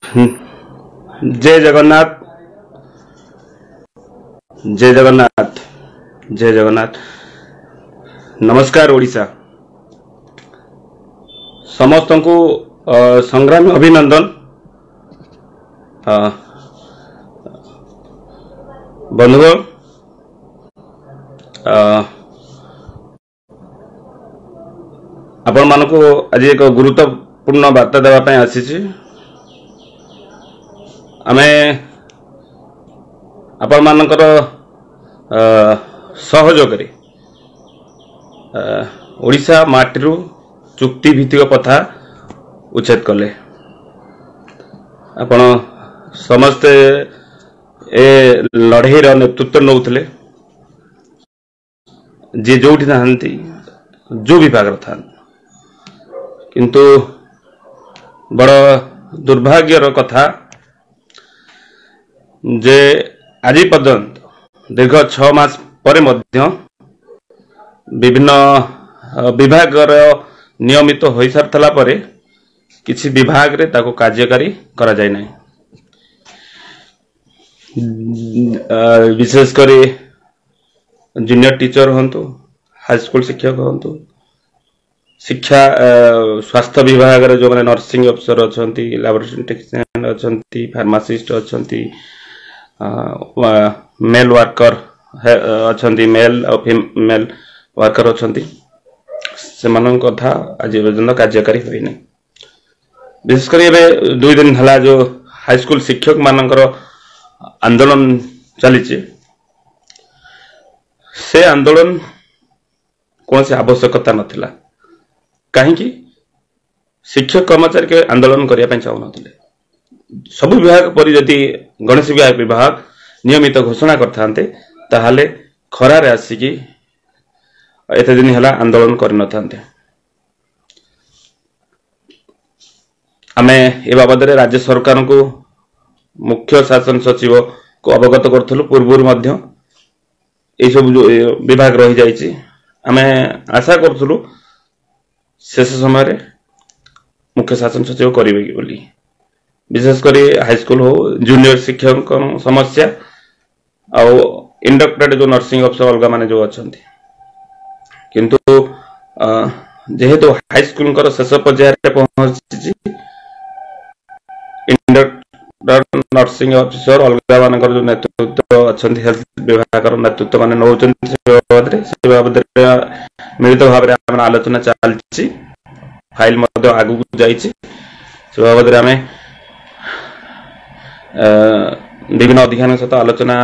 ଜୟ ଜଗନ୍ନାଥ, ଜୟ ଜଗନ୍ନାଥ, ଜୟ ଜଗନ୍ନାଥ। ନମସ୍କାର ଓଡ଼ିଶା, ସମସ୍ତଙ୍କୁ ସଂଗ୍ରାମୀ ଅଭିନନ୍ଦନ। ବନ୍ଧୁଗଣ, ଆପଣମାନଙ୍କୁ ଆଜି ଏକ ଗୁରୁତ୍ୱପୂର୍ଣ୍ଣ ବାର୍ତ୍ତା ଦେବା ପାଇଁ ଆସିଛି। ଆମେ ଆପଣମାନଙ୍କର ସହଯୋଗରେ ଓଡ଼ିଶା ମାଟିରୁ ଚୁକ୍ତି ଭିତ୍ତିକ ପ୍ରଥା ଉଚ୍ଛେଦ କଲେ। ଆପଣ ସମସ୍ତେ ଏ ଲଢ଼େଇର ନେତୃତ୍ୱ ନେଉଥିଲେ, ଯିଏ ଯୋଉଠି ନାହାନ୍ତି, ଯୋଉ ବିଭାଗରେ ଥାନ୍ତି। କିନ୍ତୁ ବଡ଼ ଦୁର୍ଭାଗ୍ୟର କଥା ଯେ ଆଜି ପର୍ଯ୍ୟନ୍ତ ଦୀର୍ଘ 6 ମାସ ପରେ ମଧ୍ୟ ବିଭିନ୍ନ ବିଭାଗର ନିୟମିତ ହୋଇସାରିଥିଲା ପରେ କିଛି ବିଭାଗରେ ତାକୁ କାର୍ଯ୍ୟକାରୀ କରାଯାଇ ନାହିଁ। ବିଶେଷ କରି ଜୁନିୟର ଟିଚର ହୁଅନ୍ତୁ, ହାଇସ୍କୁଲ ଶିକ୍ଷକ ହୁଅନ୍ତୁ, ଶିକ୍ଷା ସ୍ୱାସ୍ଥ୍ୟ ବିଭାଗରେ ଯେଉଁମାନେ ନର୍ସିଂ ଅଫିସର ଅଛନ୍ତି, ଲାବୋରେଟୋରୀ ଟେକ୍ନିସିଆନ ଅଛନ୍ତି, ଫାର୍ମାସିଷ୍ଟ ଅଛନ୍ତି, ମେଲ୍ ୱାର୍କର ଅଛନ୍ତି, ମେଲ୍ ଆଉ ଫିମେଲ୍ ୱାର୍କର ଅଛନ୍ତି, ସେମାନଙ୍କ କଥା ଆଜି ପର୍ଯ୍ୟନ୍ତ କାର୍ଯ୍ୟକାରୀ ହୋଇନି। ବିଶେଷ କରି ଏବେ 2 ଦିନ ହେଲା ଯେଉଁ ହାଇସ୍କୁଲ ଶିକ୍ଷକ ମାନଙ୍କର ଆନ୍ଦୋଳନ ଚାଲିଛି, ସେ ଆନ୍ଦୋଳନ କୌଣସି ଆବଶ୍ୟକତା ନଥିଲା। କାହିଁକି ଶିକ୍ଷକ କର୍ମଚାରୀ କେବେ ଆନ୍ଦୋଳନ କରିବା ପାଇଁ ଚାହୁଁନଥିଲେ। ସବୁ ବିଭାଗ ପରି ଯଦି ଗଣେଶ ବିଭାଗ ନିୟମିତ ଘୋଷଣା କରିଥାନ୍ତେ, ତାହେଲେ ଖରାରେ ଆସିକି ଏତେ ଦିନ ହେଲା ଆନ୍ଦୋଳନ କରିନଥାନ୍ତେ। ଆମେ ଏ ବାବଦରେ ରାଜ୍ୟ ସରକାରଙ୍କୁ, ମୁଖ୍ୟ ଶାସନ ସଚିବକୁ ଅବଗତ କରୁଥିଲୁ ପୂର୍ବରୁ ମଧ୍ୟ। ଏଇସବୁ ଯୋଉ ବିଭାଗ ରହିଯାଇଛି, ଆମେ ଆଶା କରୁଥିଲୁ ଶେଷ ସମୟରେ ମୁଖ୍ୟ ଶାସନ ସଚିବ କରିବେ କି ବୋଲି। ବିଶେଷ କରି ହାଇସ୍କୁଲ ହଉ, ଜୁନିୟର ଶିକ୍ଷକଙ୍କ ସମସ୍ୟା ଆଉ ଇଣ୍ଡକ୍ଟେଡ୍ ଯୋଉ ନର୍ସିଂ ଅଫିସର ଅଲଗା ମାନେ ଯୋଉ ଅଛନ୍ତି। କିନ୍ତୁ ଯେହେତୁ ହାଇସ୍କୁଲଙ୍କର ଶେଷ ପର୍ଯ୍ୟାୟରେ ପହଞ୍ଚିଛି, ଇଣ୍ଡକ୍ଟେଡ୍ ନର୍ସିଂ ଅଫିସର ଅଲଗା ମାନଙ୍କର ଯୋଉ ନେତୃତ୍ୱ ଅଛନ୍ତି, ହେଲ୍ଥ ବିଭାଗର ନେତୃତ୍ୱ ମାନେ ନେଉଛନ୍ତି, ସେ ବାବଦରେ ମିଳିତ ଭାବରେ ଆମର ଆଲୋଚନା ଚାଲିଛି, ଫାଇଲ ମଧ୍ୟ ଆଗକୁ ଯାଇଛି। ସେ ବାବଦରେ ଆମେ ବିଭିନ୍ନ ଅଧିକାରୀଙ୍କ ସହିତ ଆଲୋଚନା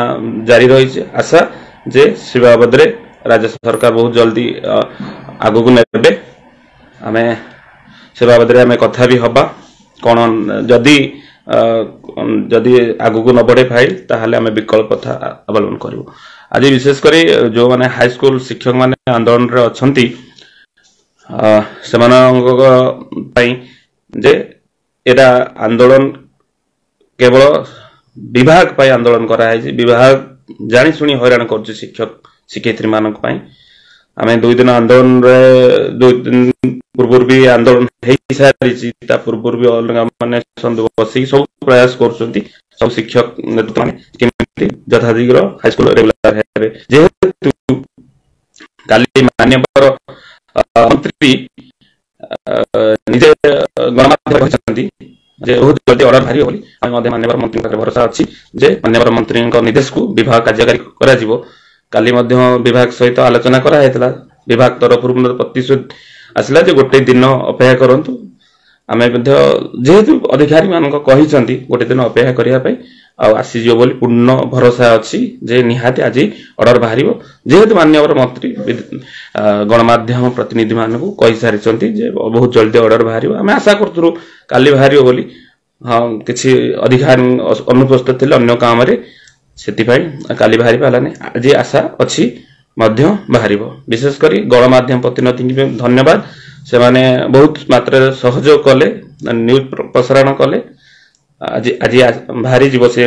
ଜାରି ରହିଛି। ଆଶା ଯେ ସେ ବାବଦରେ ରାଜ୍ୟ ସରକାର ବହୁତ ଜଲ୍ଦି ଆଗକୁ ନେବେ। ଆମେ ସେ ବାବଦରେ ଆମେ କଥା ବି ହବା। କ'ଣ ଯଦି ଯଦି ଆଗକୁ ନ ବଢେ ଫାଇଲ, ତାହେଲେ ଆମେ ବିକଳ୍ପ ପନ୍ଥା ଅବଲମ୍ବନ କରିବୁ। ଆଜି ବିଶେଷ କରି ଯେଉଁମାନେ ହାଇସ୍କୁଲ ଶିକ୍ଷକମାନେ ଆନ୍ଦୋଳନରେ ଅଛନ୍ତି, ସେମାନଙ୍କ ପାଇଁ ଯେ ଏଇଟା ଆନ୍ଦୋଳନ କେବଳ ବିଭାଗ ପାଇଁ ଆନ୍ଦୋଳନ କରାହେଇଛି। ବିଭାଗ ଜାଣିଶୁଣି ହଇରାଣ କରୁଛି ଶିକ୍ଷକ ଶିକ୍ଷୟିତ୍ରୀ ମାନଙ୍କ ପାଇଁ। ଆମେ 2 ଦିନ ଆନ୍ଦୋଳନରେ, 2 ଦିନ ପୂର୍ବରୁ ବି ଆନ୍ଦୋଳନ ହେଇସାରିଛି, ତା ପୂର୍ବରୁ ବି ଅଲଗା ମାନେ ବସିକି ସବୁ ପ୍ରୟାସ କରୁଛନ୍ତି ସବୁ ଶିକ୍ଷକ ନେତୃତ୍ୱ ମାନେ କେମିତି ଯଥାଶୀଘ୍ର ହାଇସ୍କୁଲ ରେଗୁଲାର ହେବେ। ଯେହେତୁ କାଲି ମାନ୍ୟବର ମନ୍ତ୍ରୀ ନିଜେ ଗଣମାଧ୍ୟମ କହିଛନ୍ତି ଯେ ବହୁତ ଜଲ୍ଦି ଅର୍ଡର ବାହାରିବ ବୋଲି, ଆମେ ମଧ୍ୟ ମାନ୍ୟବର ମନ୍ତ୍ରୀଙ୍କ ପାଖରେ ଭରସା ଅଛି ଯେ ମାନ୍ୟବର ମନ୍ତ୍ରୀଙ୍କ ନିର୍ଦ୍ଦେଶକୁ ବିଭାଗ କାର୍ଯ୍ୟକାରୀ କରାଯିବ। କାଲି ମଧ୍ୟ ବିଭାଗ ସହିତ ଆଲୋଚନା କରାଯାଇଥିଲା। ବିଭାଗ ତରଫରୁ ପ୍ରତିଶ୍ରୁତି ଆସିଲା ଯେ ଗୋଟେ ଦିନ ଅପେକ୍ଷା କରନ୍ତୁ। ଆମେ ମଧ୍ୟ ଯେହେତୁ ଅଧିକାରୀ ମାନଙ୍କ କହିଛନ୍ତି ଗୋଟେ ଦିନ ଅପେକ୍ଷା କରିବା ପାଇଁ, ଆଉ ଆସିଯିବ ବୋଲି ପୂର୍ଣ୍ଣ ଭରସା ଅଛି ଯେ ନିହାତି ଆଜି ଅର୍ଡର ବାହାରିବ। ଯେହେତୁ ମାନ୍ୟବର ମନ୍ତ୍ରୀ ଗଣମାଧ୍ୟମ ପ୍ରତିନିଧି ମାନଙ୍କୁ କହିସାରିଛନ୍ତି ଯେ ବହୁତ ଜଲ୍ଦି ଅର୍ଡର ବାହାରିବ, ଆମେ ଆଶା କରୁଥିଲୁ କାଲି ବାହାରିବ ବୋଲି। ହଁ, କିଛି ଅଧିକାରୀ ଅନୁପସ୍ଥିତ ଥିଲେ ଅନ୍ୟ କାମରେ, ସେଥିପାଇଁ କାଲି ବାହାରି ପାରିଲାନି। ଆଜି ଆଶା ଅଛି ମଧ୍ୟ ବାହାରିବ। ବିଶେଷ କରି ଗଣମାଧ୍ୟମ ପ୍ରତିନିଧିଙ୍କୁ ଧନ୍ୟବାଦ, ସେମାନେ ବହୁତ ମାତ୍ରାରେ ସହଯୋଗ କଲେ, ନ୍ୟୁଜ୍ ପ୍ରସାରଣ କଲେ। ଆଜି ଆଜି ବାହାରିଯିବ ସେ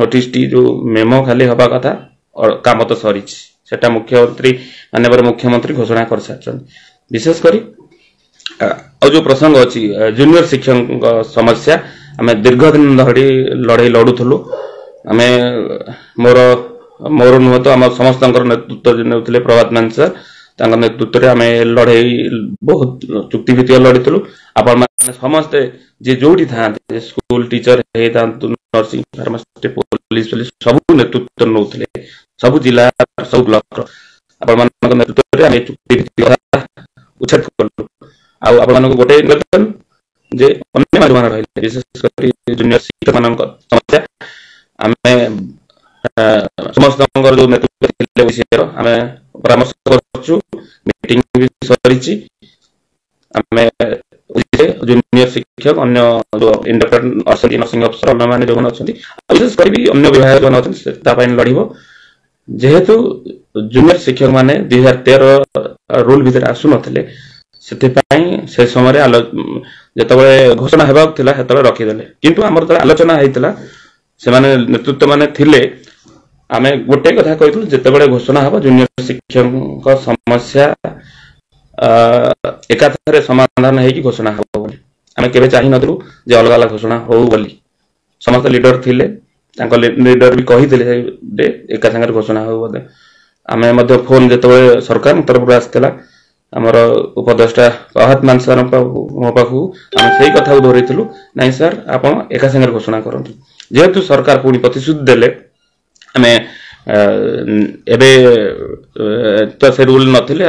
ନୋଟିସଟି, ଯୋଉ ମେମୋ ଖାଲି ହବା କଥା, କାମ ତ ସରିଛି, ସେଟା ମୁଖ୍ୟମନ୍ତ୍ରୀ, ମାନ୍ୟବର ମୁଖ୍ୟମନ୍ତ୍ରୀ ଘୋଷଣା କରିସାରିଛନ୍ତି। ବିଶେଷ କରି ଆଉ ଯୋଉ ପ୍ରସଙ୍ଗ ଅଛି ଜୁନିୟର ଶିକ୍ଷକଙ୍କ ସମସ୍ୟା, ଆମେ ଦୀର୍ଘ ଦିନ ଧରି ଲଢ଼େଇ ଲଢୁଥିଲୁ। ଆମେ ମୋର ମୋର ନୁହଁ ତ ଆମ ସମସ୍ତଙ୍କର ନେତୃତ୍ୱ ନେଉଥିଲେ ପ୍ରଭାତ ମାନ ସାର୍, ତାଙ୍କ ନେତୃତ୍ୱରେ ଆମେ ଲଢ଼େଇ ବହୁତ ଚୁକ୍ତିଭିତ୍ତିକ ଲଢ଼ିଥିଲୁ। ଆପଣମାନେ ସମସ୍ତେ ଯିଏ ଯୋଉଠି ଥାଆନ୍ତି, ସ୍କୁଲ ଟିଚର ହେଇଥାନ୍ତୁ, ନର୍ସିଂ, ଫାର୍ମାସିଷ୍ଟ, ପୋଲିସ ଫୋଲିସ ସବୁ ନେତୃତ୍ୱ ନେଉଥିଲେ, ସବୁ ଜିଲ୍ଲା ସବୁ ବ୍ଲକର। ଆପଣମାନଙ୍କ ନେତୃତ୍ୱରେ ଆମେ ଚୁକ୍ତିଭିତ୍ତିକ ଉଚ୍ଛେଦ କଲୁ। ଆଉ ଆପଣମାନଙ୍କୁ ଗୋଟେ ନିବେଦନ ଯେ ଅନ୍ୟ ଯେଉଁମାନେ ରହିଲେ, ବିଶେଷ କରି ଜୁନିୟର ଶିକ୍ଷକମାନଙ୍କ ସମସ୍ୟା, ଆମେ ସମସ୍ତଙ୍କର ଯୋଉ ନେତୃତ୍ୱ ଥିଲେ ଓଡିଶାର, ଆମେ ପରାମର୍ଶ କରୁଛୁ, ମିଟିଂ ବି ସରିଛି। ଆମେ ଜୁନିୟର ଶିକ୍ଷକ, ଅନ୍ୟ ଯୋଉ ଇଣ୍ଡିପେଣ୍ଡେଣ୍ଟ ଅଛନ୍ତି, ନର୍ସିଂ ଅଫିସର, ଅନ୍ୟମାନେ ଯେଉଁମାନେ ଅଛନ୍ତି, ଆଉ ବିଶେଷ କରି ବି ଅନ୍ୟ ବିଭାଗ ଯେଉଁମାନେ ଅଛନ୍ତି, ସେ ତା ପାଇଁ ଲଢ଼ିବ। ଯେହେତୁ ଜୁନିୟର ଶିକ୍ଷକ ମାନେ 2013 ରୁଲ ଭିତରେ ଆସୁନଥିଲେ, ସେଥିପାଇଁ ସେ ସମୟରେ ଯେତେବେଳେ ଘୋଷଣା ହେବାକୁ ଥିଲା ସେତେବେଳେ ରଖିଦେଲେ। କିନ୍ତୁ ଆମର ଯେତେବେଳେ ଆଲୋଚନା ହେଇଥିଲା, ସେମାନେ ନେତୃତ୍ୱ ମାନେ ଥିଲେ, ଆମେ ଗୋଟେ କଥା କହିଥିଲୁ, ଯେତେବେଳେ ଘୋଷଣା ହବ ଜୁନିୟର ଶିକ୍ଷକଙ୍କ ସମସ୍ୟା ଏକାଥରେ ସମାଧାନ ହେଇକି ଘୋଷଣା ହବ ବୋଲି। ଆମେ କେବେ ଚାହିଁନଥିଲୁ ଯେ ଅଲଗା ଅଲଗା ଘୋଷଣା ହଉ ବୋଲି। ସମସ୍ତ ଲିଡର ଥିଲେ, ତାଙ୍କ ଲିଡର ବି କହିଥିଲେ ଯେ ଏକା ସାଙ୍ଗରେ ଘୋଷଣା ହଉ ବୋଧେ। ଆମେ ମଧ୍ୟ ଫୋନ ଯେତେବେଳେ ସରକାରଙ୍କ ତରଫରୁ ଆସିଥିଲା ଆମର ଉପଦେଷ୍ଟା ପ୍ରଭାତ ମାନ ସାର୍ଙ୍କ ମୋ ପାଖକୁ, ଆମେ ସେଇ କଥାକୁ ଧରିଥିଲୁ, ନାଇଁ ସାର୍ ଆପଣ ଏକା ସାଙ୍ଗରେ ଘୋଷଣା କରନ୍ତୁ। ଯେହେତୁ ସରକାର ପୁଣି ପ୍ରତିଶ୍ରୁତି ଦେଲେ, ଆମେ ଏବେ ତ ସେ ରୁଲ ନଥିଲେ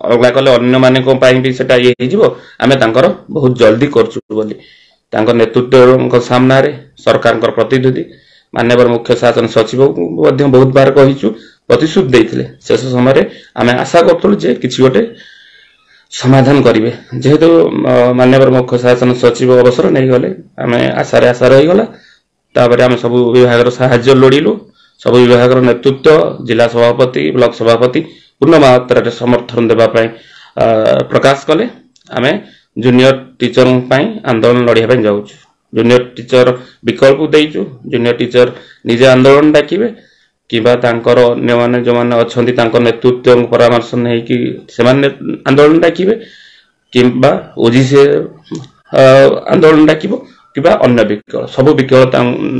ଅଲଗା କଲେ ଅନ୍ୟମାନଙ୍କ ପାଇଁ ବି ସେଟା ଇଏ ହେଇଯିବ, ଆମେ ତାଙ୍କର ବହୁତ ଜଲ୍ଦି କରୁଛୁ ବୋଲି ତାଙ୍କ ନେତୃତ୍ୱଙ୍କ ସାମ୍ନାରେ ସରକାରଙ୍କର ପ୍ରତିନିଧି ମାନ୍ୟବର ମୁଖ୍ୟ ଶାସନ ସଚିବଙ୍କୁ ମଧ୍ୟ ବହୁତ ବାର କହିଛୁ, ପ୍ରତିଶ୍ରୁତି ଦେଇଥିଲେ। ଶେଷ ସମୟରେ ଆମେ ଆଶା କରୁଥିଲୁ ଯେ କିଛି ଗୋଟେ ସମାଧାନ କରିବେ। ଯେହେତୁ ମାନ୍ୟବର ମୁଖ୍ୟ ଶାସନ ସଚିବ ଅବସର ନେଇଗଲେ, ଆମେ ଆଶାରେ ଆଶା ରହିଗଲା। ତାପରେ ଆମେ ସବୁ ବିଭାଗର ସାହାଯ୍ୟ ଲୋଡ଼ିଲୁ। ସବୁ ବିଭାଗର ନେତୃତ୍ୱ, ଜିଲ୍ଲା ସଭାପତି, ବ୍ଲକ ସଭାପତି ପୂର୍ଣ୍ଣ ମାତ୍ରାରେ ସମର୍ଥନ ଦେବା ପାଇଁ ପ୍ରକାଶ କଲେ। ଆମେ ଜୁନିୟର ଟିଚରଙ୍କ ପାଇଁ ଆନ୍ଦୋଳନ ଲଢ଼ିବା ପାଇଁ ଯାଉଛୁ। ଜୁନିୟର ଟିଚର ବିକଳ୍ପ ଦେଇଛୁ, ଜୁନିୟର ଟିଚର ନିଜେ ଆନ୍ଦୋଳନ ଡାକିବେ କିମ୍ବା ତାଙ୍କର ଅନ୍ୟମାନେ ଯେଉଁମାନେ ଅଛନ୍ତି ତାଙ୍କ ନେତୃତ୍ୱଙ୍କ ପରାମର୍ଶ ନେଇକି ସେମାନେ ଆନ୍ଦୋଳନ ଡାକିବେ, କିମ୍ବା ଓଜିସି ଆନ୍ଦୋଳନ ଡାକିବ, କିମ୍ବା ଅନ୍ୟ ବିକଳ୍ପ, ସବୁ ବିକଳ୍ପ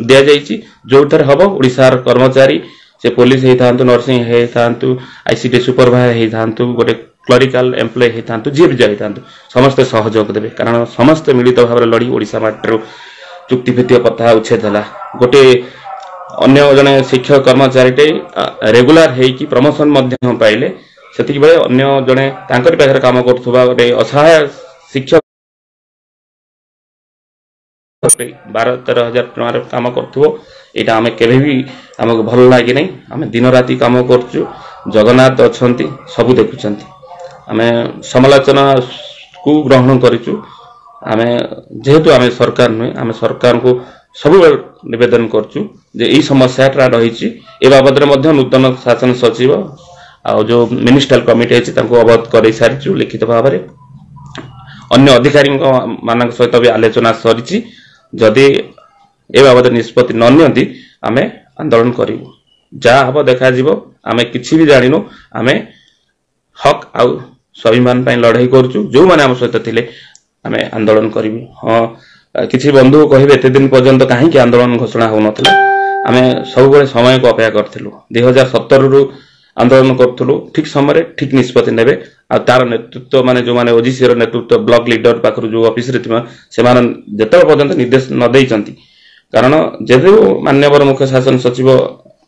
ଦିଆଯାଇଛି। ଯୋଉଥିରେ ହବ ଓଡ଼ିଶାର କର୍ମଚାରୀ, ସେ ପୋଲିସ ହେଇଥାନ୍ତୁ, ନର୍ସିଂ ହେଇଥାନ୍ତୁ, ଆଇସିଡି ସୁପରଭାଇଜର ହେଇଥାନ୍ତୁ, ଗୋଟେ କ୍ଲରିକାଲ ଏମ୍ପ୍ଲୟ ହେଇଥାନ୍ତୁ, ଯିଏ ବି ଯାଇଥାନ୍ତୁ, ସମସ୍ତେ ସହଯୋଗ ଦେବେ। କାରଣ ସମସ୍ତେ ମିଳିତ ଭାବରେ ଲଢ଼ି ଓଡ଼ିଶା ମାଟିରୁ ଚୁକ୍ତିଭିତ୍ତିକ ପ୍ରଥା ଉଚ୍ଛେଦ ହେଲା। ଗୋଟେ ଅନ୍ୟ ଜଣେ ଶିକ୍ଷକ କର୍ମଚାରୀଟେ ରେଗୁଲାର ହେଇକି ପ୍ରମୋସନ ମଧ୍ୟ ପାଇଲେ, ସେତିକି ବେଳେ ଅନ୍ୟ ଜଣେ ତାଙ୍କରି ପାଖରେ କାମ କରୁଥିବା ଗୋଟେ ଅସହାୟ ଶିକ୍ଷକ 12-13 ହଜାର ଟଙ୍କାରେ କାମ କରୁଥିବ, ଏଇଟା ଆମେ କେବେ ବି ଆମକୁ ଭଲ ଲାଗିନାହିଁ। ଆମେ ଦିନ ରାତି କାମ କରୁଛୁ, ଜଗନ୍ନାଥ ଅଛନ୍ତି, ସବୁ ଦେଖୁଛନ୍ତି। ଆମେ ସମାଲୋଚନାକୁ ଗ୍ରହଣ କରିଛୁ। ଆମେ ଯେହେତୁ ଆମେ ସରକାର ନୁହେଁ, ଆମେ ସରକାରଙ୍କୁ ସବୁବେଳେ ନିବେଦନ କରୁଛୁ ଯେ ଏଇ ସମସ୍ୟାଟା ରହିଛି। ଏ ବାବଦରେ ମଧ୍ୟ ନୂତନ ଶାସନ ସଚିବ ଆଉ ଯୋଉ ମିନିଷ୍ଟ୍ରିଆଲ କମିଟି ହେଇଛି ତାଙ୍କୁ ଅବଗତ କରାଇ ସାରିଛୁ ଲିଖିତ ଭାବରେ। ଅନ୍ୟ ଅଧିକାରୀଙ୍କ ମାନଙ୍କ ସହିତ ବି ଆଲୋଚନା ସରିଛି। ଯଦି ଏ ବାବଦରେ ନିଷ୍ପତ୍ତି ନ ନିଅନ୍ତି ଆମେ ଆନ୍ଦୋଳନ କରିବୁ। ଯାହା ହବ ଦେଖାଯିବ, ଆମେ କିଛି ବି ଜାଣିନୁ। ଆମେ ହକ୍ ଆଉ ସ୍ୱାଭିମାନ ପାଇଁ ଲଢ଼େଇ କରୁଛୁ। ଯୋଉମାନେ ଆମ ସହିତ ଥିଲେ ଆମେ ଆନ୍ଦୋଳନ କରିବୁ। ହଁ, କିଛି ବନ୍ଧୁ କହିବେ ଏତେ ଦିନ ପର୍ଯ୍ୟନ୍ତ କାହିଁକି ଆନ୍ଦୋଳନ ଘୋଷଣା ହଉନଥିଲା। ଆମେ ସବୁବେଳେ ସମୟକୁ ଅପେକ୍ଷା କରିଥିଲୁ। 2017ରୁ ଆନ୍ଦୋଳନ କରୁଥିଲୁ, ଠିକ ସମୟରେ ଠିକ ନିଷ୍ପତ୍ତି ନେବେ। ଆଉ ତାର ନେତୃତ୍ୱ ମାନେ ଯୋଉମାନେ ଓଜିସିର ନେତୃତ୍ୱ ବ୍ଲକ ଲିଡର ପାଖରୁ ଯୋଉ ଅଫିସରେ ଥିବା ସେମାନେ ଯେତେବେଳେ ପର୍ଯ୍ୟନ୍ତ ନିର୍ଦ୍ଦେଶ ନ ଦେଇଛନ୍ତି, କାରଣ ଯେହେତୁ ମାନ୍ୟବର ମୁଖ୍ୟ ଶାସନ ସଚିବ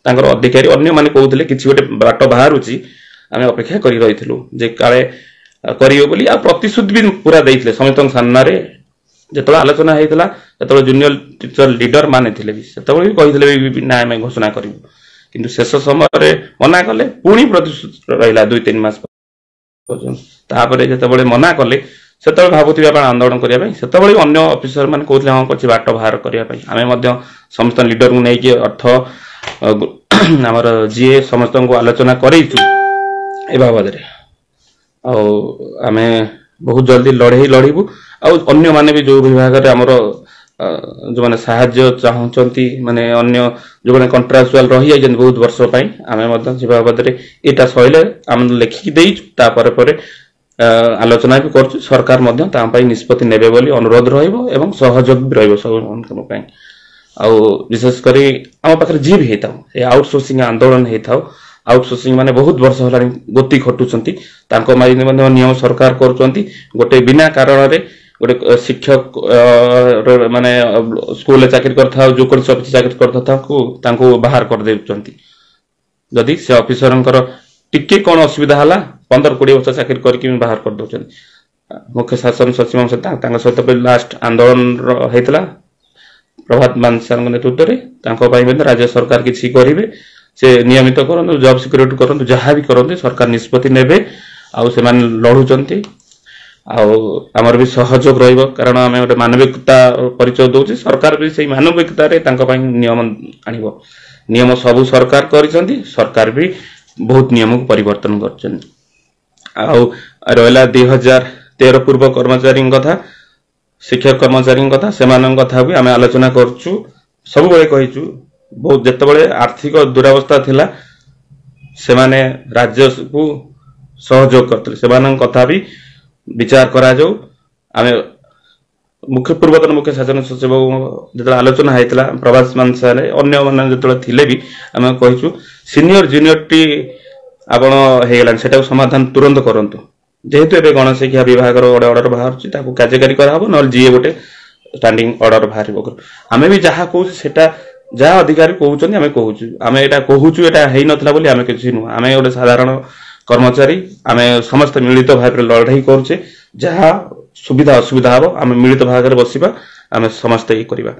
ତାଙ୍କର ଅଧିକାରୀ ଅନ୍ୟମାନେ କହୁଥିଲେ କିଛି ଗୋଟେ ବାଟ ବାହାରୁଛି, ଆମେ ଅପେକ୍ଷା କରି ରହିଥିଲୁ ଯେ କାଳେ କରିବେ ବୋଲି। ଆଉ ପ୍ରତିଶ୍ରୁତି ବି ପୁରା ଦେଇଥିଲେ ସମସ୍ତଙ୍କ ସାମ୍ନାରେ। ଯେତେବେଳେ ଆଲୋଚନା ହେଇଥିଲା ସେତେବେଳେ ଜୁନିୟର ଟିଚର ଲିଡର ମାନେ ଥିଲେ ବି, ସେତେବେଳେ ବି କହିଥିଲେ ବି ନା ଆମେ ଘୋଷଣା କରିବୁ, କିନ୍ତୁ ଶେଷ ସମୟରେ ମନା କଲେ। ପୁଣି ପ୍ରତିଶ୍ରୁତି ରହିଲା 2-3 ମାସ ପର୍ଯ୍ୟନ୍ତ। ତାପରେ ଯେତେବେଳେ ମନା କଲେ ସେତେବେଳେ ଭାବୁଥିବେ ଆପଣ ଆନ୍ଦୋଳନ କରିବା ପାଇଁ। ସେତେବେଳେ ବି ଅନ୍ୟ ଅଫିସର ମାନେ କହୁଥିଲେ ହଁ କିଛି ବାଟ ବାହାର କରିବା ପାଇଁ। ଆମେ ମଧ୍ୟ ସମସ୍ତ ଲିଡରଙ୍କୁ ନେଇକି ଅର୍ଥ ଆମର ଯିଏ ସମସ୍ତଙ୍କୁ ଆଲୋଚନା କରେଇଛୁ ଏ ବାବଦରେ। ଆଉ ଆମେ ବହୁତ ଜଲ୍ଦି ଲଢ଼େଇ ଲଢ଼ିବୁ। ଆଉ ଅନ୍ୟମାନେ ବି ଯୋଉ ବିଭାଗରେ ଆମର ଯୋଉମାନେ ସାହାଯ୍ୟ ଚାହୁଁଛନ୍ତି, ମାନେ ଅନ୍ୟ ଯୋଉମାନେ କଣ୍ଟ୍ରାକ୍ଚୁଆଲ ରହିଯାଇଛନ୍ତି ବହୁତ ବର୍ଷ ପାଇଁ, ଆମେ ମଧ୍ୟ ସେ ବାବଦରେ ଏଇଟା ସରିଲେ ଆମେ ଲେଖିକି ଦେଇଛୁ। ତାପରେ ପରେ ଆଲୋଚନା ବି କରୁଛୁ। ସରକାର ମଧ୍ୟ ତା ପାଇଁ ନିଷ୍ପତ୍ତି ନେବେ ବୋଲି ଅନୁରୋଧ ରହିବ ଏବଂ ସହଯୋଗ ବି ରହିବ ସବୁ ପାଇଁ। ଆଉ ବିଶେଷ କରି ଆମ ପାଖରେ ଯିଏ ବି ହେଇଥାଉ, ଏ ଆଉଟସୋର୍ସିଂ ଆନ୍ଦୋଳନ ହେଇଥାଉ, ଆଉଟସୋର୍ସିଂ ମାନେ ବହୁତ ବର୍ଷ ହେଲାଣି ଗୋତି ଖଟୁଛନ୍ତି, ତାଙ୍କ ପାଇଁ ମଧ୍ୟ ନିୟମ ସରକାର କରୁଛନ୍ତି। ଗୋଟେ ବିନା କାରଣରେ ଗୋଟେ ଶିକ୍ଷକ ମାନେ ସ୍କୁଲରେ ଚାକିରି କରିଥାଉ, ଯେକୌଣସି ଅଫିସ ଚାକିରି କରିଥାଉ, ତାଙ୍କୁ ବାହାର କରିଦେଉଛନ୍ତି। ଯଦି ସେ ଅଫିସରଙ୍କର ଟିକେ କଣ ଅସୁବିଧା ହେଲା, 15-20 ବର୍ଷ ଚାକିରି କରିକି ବାହାର କରିଦେଉଛନ୍ତି। ମୁଖ୍ୟ ଶାସନ ସଚିବଙ୍କ ସହିତ ତାଙ୍କ ସହିତ ବି ଲାଷ୍ଟ ଆନ୍ଦୋଳନର ହେଇଥିଲା ପ୍ରଭାତ ମାନସାରଙ୍କ ନେତୃତ୍ୱରେ। ତାଙ୍କ ପାଇଁ ମଧ୍ୟ ରାଜ୍ୟ ସରକାର କିଛି କରିବେ, ସେ ନିୟମିତ କରନ୍ତୁ, ଜବ୍ ସିକ୍ୟୁରିଟି କରନ୍ତୁ, ଯାହା ବି କରନ୍ତୁ ସରକାର ନିଷ୍ପତ୍ତି ନେବେ। ଆଉ ସେମାନେ ଲଢୁଛନ୍ତି ଆଉ ଆମର ବି ସହଯୋଗ ରହିବ, କାରଣ ଆମେ ଗୋଟେ ମାନବିକତା ପରିଚୟ ଦଉଛେ। ସରକାର ବି ସେଇ ମାନବିକତାରେ ତାଙ୍କ ପାଇଁ ନିୟମ ଆଣିବ। ନିୟମ ସବୁ ସରକାର କରିଛନ୍ତି, ସରକାର ବି ବହୁତ ନିୟମକୁ ପରିବର୍ତ୍ତନ କରିଛନ୍ତି। ଆଉ ରହିଲା 2013 ପୂର୍ବ କର୍ମଚାରୀଙ୍କ କଥା, ଶିକ୍ଷକ କର୍ମଚାରୀଙ୍କ କଥା, ସେମାନଙ୍କ କଥା ବି ଆମେ ଆଲୋଚନା କରୁଛୁ। ସବୁବେଳେ କହିଛୁ, ବହୁତ ଯେତେବେଳେ ଆର୍ଥିକ ଦୁରାବସ୍ଥା ଥିଲା ସେମାନେ ରାଜ୍ୟକୁ ସହଯୋଗ କରିଥିଲେ, ସେମାନଙ୍କ କଥା ବି ବିଚାର କରାଯାଉ। ଆମେ ମୁଖ୍ୟ ପୂର୍ବତନ ମୁଖ୍ୟ ଶାସନ ସଚିବ ଯେତେବେଳେ ଆଲୋଚନା ହେଇଥିଲା, ପ୍ରଭାସ ମାନସାରେ ଅନ୍ୟମାନେ ଯେତେବେଳେ ଥିଲେ ବି ଆମେ କହିଛୁ ସିନିୟର ଜୁନିୟର ଟି ଆପଣ ହେଇଗଲାଣି, ସେଟାକୁ ସମାଧାନ ତୁରନ୍ତ କରନ୍ତୁ। ଯେହେତୁ ଏବେ ଗଣଶିକ୍ଷା ବିଭାଗର ଗୋଟେ ଅର୍ଡର ବାହାରୁଛି, ତାକୁ କାର୍ଯ୍ୟକାରୀ କରାହବ, ନହେଲେ ଯିଏ ଗୋଟେ ଷ୍ଟାଣ୍ଡିଂ ଅର୍ଡର ବାହାରିବ। ଆମେ ବି ଯାହା କହୁଛୁ ସେଟା ଯାହା ଅଧିକାରୀ କହୁଛନ୍ତି ଆମେ କହୁଛୁ। ଆମେ ଏଇଟା କହୁଛୁ ଏଇଟା ହେଇନଥିଲା ବୋଲି ଆମେ କିଛି ନୁହଁ, ଆମେ ଗୋଟେ ସାଧାରଣ କର୍ମଚାରୀ, ଆମେ ସମସ୍ତେ ମିଳିତ ଭାବରେ ଲଢେଇ କରୁଛେ। ଯାହା ସୁବିଧା ଅସୁବିଧା ହବ ଆମେ ମିଳିତ ଭାଗରେ ବସିବା, ଆମେ ସମସ୍ତେ ଇଏ କରିବା।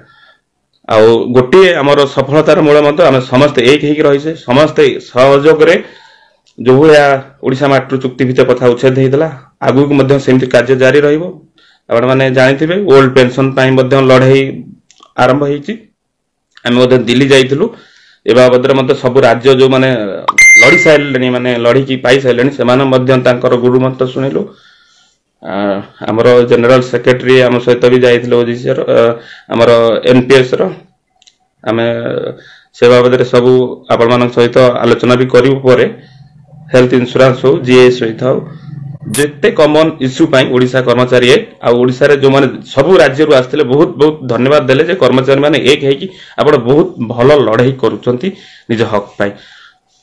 ଆଉ ଗୋଟିଏ ଆମର ସଫଳତାର ମୂଳ ମନ୍ତ୍ର, ଆମେ ସମସ୍ତେ ଏକ ହେଇକି ରହିଛେ, ସମସ୍ତେ ସହଯୋଗରେ। ଯୋଉଭଳିଆ ଓଡ଼ିଶା ମାଟିରୁ ଚୁକ୍ତିଭିତ୍ତିକ ପ୍ରଥା ଉଚ୍ଛେଦ ହେଇଥିଲା, ଆଗକୁ ମଧ୍ୟ ସେମିତି କାର୍ଯ୍ୟ ଜାରି ରହିବ। ଆପଣମାନେ ଜାଣିଥିବେ ଓଲ୍ଡ ପେନସନ ପାଇଁ ମଧ୍ୟ ଲଢେଇ ଆରମ୍ଭ ହେଇଛି। ଆମେ ମଧ୍ୟ ଦିଲ୍ଲୀ ଯାଇଥିଲୁ ଏ ବାବଦରେ ମଧ୍ୟ। ସବୁ ରାଜ୍ୟ ଯୋଉମାନେ ଲଢି ସାରିଲେଣି, ମାନେ ଲଢିକି ପାଇସାରିଲେଣି, ସେମାନେ ମଧ୍ୟ ତାଙ୍କର ଗୁରୁମନ୍ତ୍ର ଶୁଣିଲୁ। ଆମର ଜେନେରାଲ ସେକ୍ରେଟାରୀ ଆମ ସହିତ ବି ଯାଇଥିଲେ ଓଜିସିର, ଆମର ଏନପିଏସ୍ ର। ଆମେ ସେ ବାବଦରେ ସବୁ ଆପଣମାନଙ୍କ ସହିତ ଆଲୋଚନା ବି କରିବୁ ପରେ। ହେଲ୍ଥ ଇନ୍ସୁରାନ୍ସ ହଉ, ଜିଏସ୍ ହୋଇଥାଉ, ଯେତେ କମନ ଇସ୍ୟୁ ପାଇଁ ଓଡ଼ିଶା କର୍ମଚାରୀ ଏକ। ଆଉ ଓଡ଼ିଶାରେ ଯୋଉମାନେ ସବୁ ରାଜ୍ୟରୁ ଆସିଥିଲେ ବହୁତ ବହୁତ ଧନ୍ୟବାଦ ଦେଲେ ଯେ କର୍ମଚାରୀ ମାନେ ଏକ ହେଇକି ଆପଣ ବହୁତ ଭଲ ଲଢେଇ କରୁଛନ୍ତି ନିଜ ହକ୍ ପାଇଁ।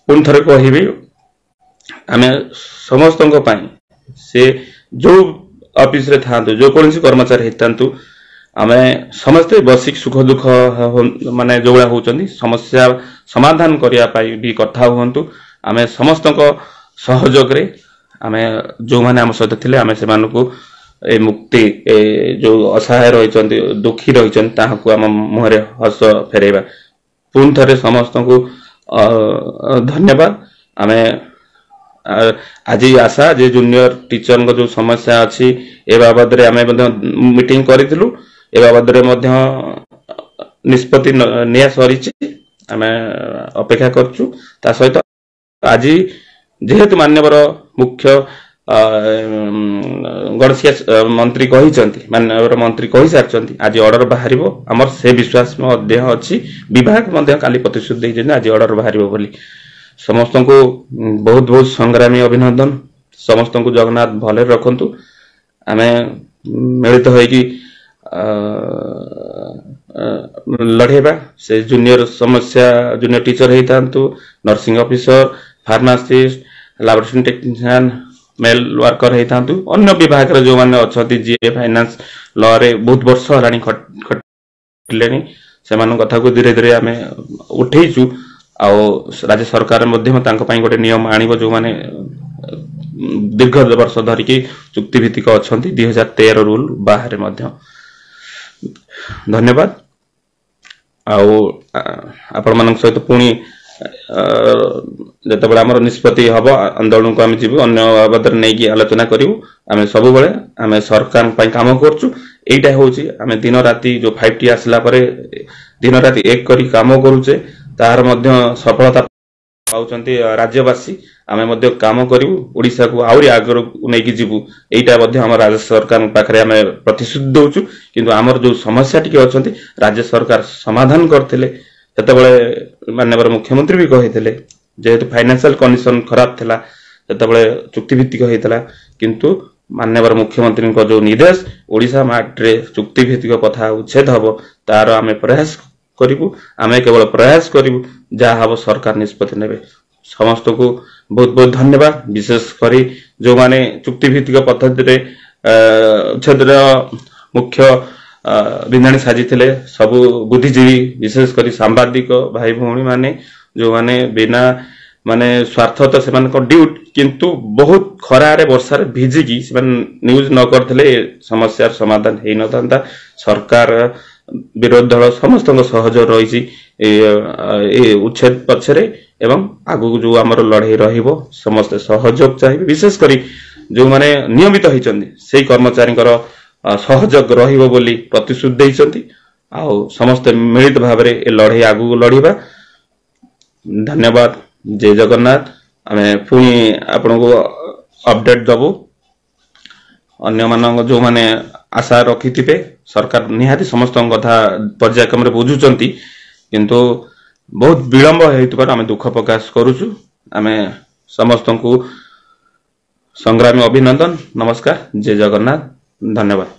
ପୁଣି ଥରେ କହିବି, ଆମେ ସମସ୍ତଙ୍କ ପାଇଁ, ସେ ଯୋଉ ଅଫିସରେ ଥାଆନ୍ତୁ, ଯେକୌଣସି କର୍ମଚାରୀ ହେଇଥାନ୍ତୁ, ଆମେ ସମସ୍ତେ ବସିକି ସୁଖ ଦୁଃଖ ମାନେ ଯୋଉଭଳିଆ ହଉଛନ୍ତି ସମସ୍ୟା ସମାଧାନ କରିବା ପାଇଁ ବି କଥା ହୁଅନ୍ତୁ। ଆମେ ସମସ୍ତଙ୍କ ସହଯୋଗରେ ଆମେ ଯୋଉମାନେ ଆମ ସହିତ ଥିଲେ ଆମେ ସେମାନଙ୍କୁ ଏ ମୁକ୍ତି, ଏ ଯୋଉ ଅସହାୟ ରହିଛନ୍ତି, ଦୁଃଖୀ ରହିଛନ୍ତି, ତାହାକୁ ଆମ ମୁହଁରେ ହସ ଫେରେଇବା। ପୁଣି ଥରେ ସମସ୍ତଙ୍କୁ ଧନ୍ୟବାଦ। ଆମେ ଆଜି ଆଶା ଯେ ଜୁନିୟର ଟିଚରଙ୍କ ଯୋଉ ସମସ୍ୟା ଅଛି ଏ ବାବଦରେ ଆମେ ମଧ୍ୟ ମିଟିଂ କରିଥିଲୁ, ଏ ବାବଦରେ ମଧ୍ୟ ନିଷ୍ପତ୍ତି ନିଆ ସରିଛି, ଆମେ ଅପେକ୍ଷା କରୁଛୁ। ତା ସହିତ ଆଜି ଯେହେତୁ ମାନ୍ୟବର ମୁଖ୍ୟ ଗଣଶିକ୍ଷା ମନ୍ତ୍ରୀ କହିଛନ୍ତି, ମାନ୍ୟବର ମନ୍ତ୍ରୀ କହିସାରିଛନ୍ତି ଆଜି ଅର୍ଡର ବାହାରିବ, ଆମର ସେ ବିଶ୍ୱାସ ମଧ୍ୟ ଅଛି। ବିଭାଗ ମଧ୍ୟ କାଲି ପ୍ରତିଶ୍ରୁତି ଦେଇଛନ୍ତି ଆଜି ଅର୍ଡର ବାହାରିବ ବୋଲି। ସମସ୍ତଙ୍କୁ ବହୁତ ବହୁତ ସଂଗ୍ରାମୀ ଅଭିନନ୍ଦନ। ସମସ୍ତଙ୍କୁ ଜଗନ୍ନାଥ ଭଲରେ ରଖନ୍ତୁ। ଆମେ ମିଳିତ ହେଇକି ଲଢେଇବା। ସେ ଜୁନିୟର ସମସ୍ୟା, ଜୁନିୟର ଟିଚର ହେଇଥାନ୍ତୁ, nursing officer, pharmacist, laboratory technician, mail worker ହେଇଥାନ୍ତୁ, ଅନ୍ୟ ବିଭାଗରେ ଯୋଉମାନେ ଅଛନ୍ତି, ଯିଏ ଫାଇନାନ୍ସ ଲରେ ବହୁତ ବର୍ଷ ହେଲାଣି ଖଟିଲେଣି, ସେମାନଙ୍କ କଥାକୁ ଧୀରେ ଧୀରେ ଆମେ ଉଠେଇଛୁ। ଆଉ ରାଜ୍ୟ ସରକାର ମଧ୍ୟ ତାଙ୍କ ପାଇଁ ଗୋଟେ ନିୟମ ଆଣିବ, ଯୋଉମାନେ ଦୀର୍ଘ ବର୍ଷ ଧରିକି ଚୁକ୍ତିଭିତ୍ତିକ ଅଛନ୍ତି 2013 ରୁଲ ବାହାରେ ମଧ୍ୟ। ଧନ୍ୟବାଦ। ଆଉ ଆପଣମାନଙ୍କ ସହିତ ପୁଣି ଯେତେବେଳେ ଆମର ନିଷ୍ପତ୍ତି ହବ ଆନ୍ଦୋଳନକୁ ଆମେ ଯିବୁ, ଅନ୍ୟ ବାବଦରେ ନେଇକି ଆଲୋଚନା କରିବୁ। ଆମେ ସବୁବେଳେ ଆମେ ସରକାରଙ୍କ ପାଇଁ କାମ କରୁଛୁ। ଏଇଟା ହଉଛି ଆମେ ଦିନ ରାତି ଯୋଉ 5T ଆସିଲା ପରେ ଦିନ ରାତି ଏକ କରି କାମ କରୁଛେ, ତାହାର ମଧ୍ୟ ସଫଳତା ପାଉଛନ୍ତି ରାଜ୍ୟବାସୀ। ଆମେ ମଧ୍ୟ କାମ କରିବୁ, ଓଡ଼ିଶାକୁ ଆହୁରି ଆଗକୁ ନେଇକି ଯିବୁ। ଏଇଟା ମଧ୍ୟ ଆମ ରାଜ୍ୟ ସରକାରଙ୍କ ପାଖରେ ଆମେ ପ୍ରତିଶ୍ରୁତି ଦଉଛୁ। କିନ୍ତୁ ଆମର ଯୋଉ ସମସ୍ୟା ଟିକେ ଅଛନ୍ତି, ରାଜ୍ୟ ସରକାର ସମାଧାନ କରିଥିଲେ। ସେତେବେଳେ ମାନ୍ୟବର ମୁଖ୍ୟମନ୍ତ୍ରୀ ବି କହିଥିଲେ, ଯେହେତୁ ଫାଇନାନ୍ସିଆଲ କଣ୍ଡିସନ ଖରାପ ଥିଲା, ସେତେବେଳେ ଚୁକ୍ତିଭିତ୍ତିକ ହେଇଥିଲା। କିନ୍ତୁ ମାନ୍ୟବର ମୁଖ୍ୟମନ୍ତ୍ରୀଙ୍କ ଯୋଉ ନିର୍ଦ୍ଦେଶ, ଓଡ଼ିଶା ମାଟିରେ ଚୁକ୍ତିଭିତ୍ତିକ କଥା ଉଚ୍ଛେଦ ହବ, ତାର ଆମେ ପ୍ରୟାସ କରିବୁ। ଆମେ କେବଳ ପ୍ରୟାସ କରିବୁ, ଯାହା ହବ ସରକାର ନିଷ୍ପତ୍ତି ନେବେ। ସମସ୍ତଙ୍କୁ ବହୁତ ବହୁତ ଧନ୍ୟବାଦ। ବିଶେଷ କରି ଯୋଉମାନେ ଚୁକ୍ତିଭିତ୍ତିକ ପଦ୍ଧତିରେ ଉଚ୍ଛେଦର ମୁଖ୍ୟ ବିନ୍ଧାଣୀ ସାଜିଥିଲେ, ସବୁ ବୁଦ୍ଧିଜୀବୀ, ବିଶେଷ କରି ସାମ୍ବାଦିକ ଭାଇ ଭଉଣୀମାନେ, ଯୋଉମାନେ ବିନା ମାନେ ସ୍ୱାର୍ଥ ତ ସେମାନଙ୍କ ଡ୍ୟୁଟି, କିନ୍ତୁ ବହୁତ ଖରାରେ ବର୍ଷାରେ ଭିଜିକି ସେମାନେ ନ୍ୟୁଜ୍ ନ କରିଥିଲେ ଏ ସମସ୍ୟାର ସମାଧାନ ହେଇନଥାନ୍ତା। ସରକାର, ବିରୋଧୀ ଦଳ ସମସ୍ତଙ୍କ ସହଯୋଗ ରହିଛି ଏ ଉଚ୍ଛେଦ ପଛରେ, ଏବଂ ଆଗକୁ ଯୋଉ ଆମର ଲଢେଇ ରହିବ ସମସ୍ତେ ସହଯୋଗ ଚାହିଁବେ। ବିଶେଷ କରି ଯୋଉମାନେ ନିୟମିତ ହେଇଛନ୍ତି ସେଇ କର୍ମଚାରୀଙ୍କର ସହଯୋଗ ରହିବ ବୋଲି ପ୍ରତିଶ୍ରୁତି ଦେଇଛନ୍ତି। ଆଉ ସମସ୍ତେ ମିଳିତ ଭାବରେ ଏ ଲଢେଇ ଆଗକୁ ଲଢିବା। ଧନ୍ୟବାଦ, ଜୟ ଜଗନ୍ନାଥ। ଆମେ ପୁଣି ଆପଣଙ୍କୁ ଅପଡେଟ୍ ଦବୁ। ଅନ୍ୟମାନଙ୍କ ଯୋଉମାନେ ଆଶା ରଖିଥିବେ, ସରକାର ନିହାତି ସମସ୍ତଙ୍କ କଥା ପର୍ଯ୍ୟାୟକ୍ରମରେ ବୁଝୁଛନ୍ତି, କିନ୍ତୁ ବହୁତ ବିଳମ୍ବ ହେଉଥିବାରୁ ଆମେ ଦୁଃଖ ପ୍ରକାଶ କରୁଛୁ। ଆମେ ସମସ୍ତଙ୍କୁ ସଂଗ୍ରାମୀ ଅଭିନନ୍ଦନ, ନମସ୍କାର, ଜୟ ଜଗନ୍ନାଥ, ଧନ୍ୟବାଦ।